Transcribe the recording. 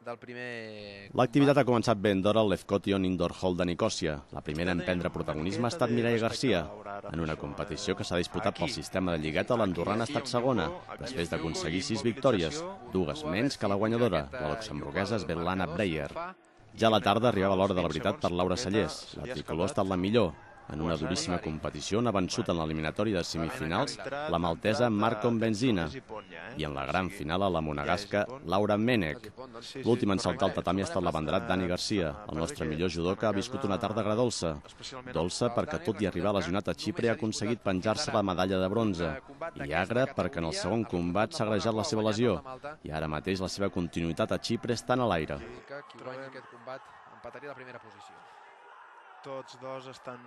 del primer L'activitat ha començat ben d'hora al Lefkotion Indoor Hall de Nicòsia. La primera en prendre protagonisme ha estat Mireia Garcia, en una competició que s'ha disputat pel sistema de lligueta. L'andorrana ha estat segona, després d'aconseguir 6 victòries, 2 menys que la guanyadora, la luxemburguesa Svetlana Breyer. Ja a la tarda arribava l'hora de la veritat per Laura Sallés. La tricolor ha estat la millor. En una duríssima competició on ha vençut en l'eliminatori de semifinals la maltesa Marcon Benzina i en la gran final a la monegasca Laura Menek. L'últim en saltar al tatami ha estat l'abanderat Dani Garcia. El nostre millor judoka ha viscut una tarda agradolça. Dolça perquè, tot i arribar lesionat a Xipre, ha aconseguit penjar-se la medalla de bronze. I agra perquè en el segon combat s'ha agrejat la seva lesió i ara mateix la seva continuïtat a Xipre està en l'aire. Qui guanya aquest combat empataria la primera posició. Tots dos estan